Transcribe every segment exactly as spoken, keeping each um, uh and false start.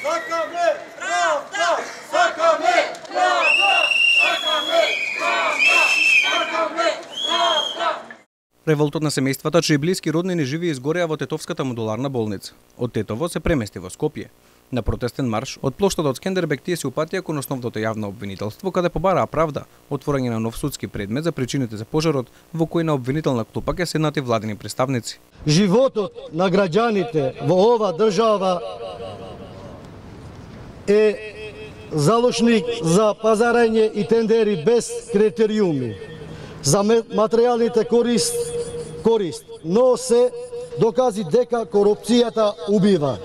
Сакаме правда! Сакаме правда! Сакаме правда! Сакаме правда! Револтот на семејствата чии блиски роднини живееја изгореа во Тетовската модуларна болница. Од Тетово се премести во Скопје. На протестен марш од плоштадот Скендербек тие се упатија кон основното јавно обвинителство, каде побараа правда, отворање на нов судски предмет за причините за пожарот, во кој на обвинителна клупа ќе седнати владини представници. Животот на граѓаните во ова држава е залошник за пазарање и тендери без критериуми, за материјалните корист, корист, но се докази дека корупцијата убива.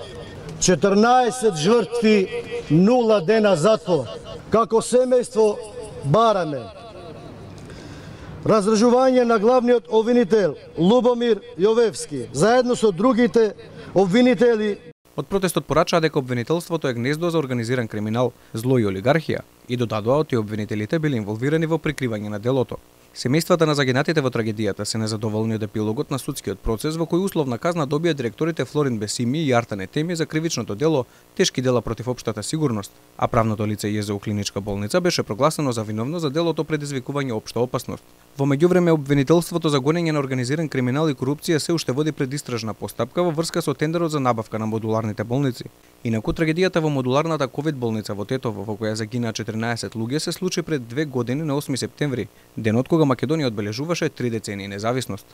четрнаесет жртви, нула дена затвор. Како семејство бараме раздржување на главниот обвинител Лубомир Јовевски, заедно со другите обвинители. Од протестот порачаа дека обвинителството е гнездо за организиран криминал, зло и олигархија и додадоа оти обвинителите били инволвирани во прикривање на делото. Семејствата на загинатите во трагедијата се незадоволни од епилогот на судскиот процес во кој условна казна добија директорите Флорин Бесими и Артан Етеми за кривичното дело тешки дела против општата сигурност, а правното лице ЈЗУ клиничка болница беше прогласено за виновно за делото предизвикување општа опасност. Во меѓувреме обвинителството за гонење на организиран криминал и корупција се уште води предистражна постапка во врска со тендерот за набавка на модуларните болници. Инаку трагедијата во модуларната ковид болница во Тетово, во која загинаа четрнаесет луѓе, се случи пред две години на осми септември, денот кога Македонија одбележуваше три децении независност.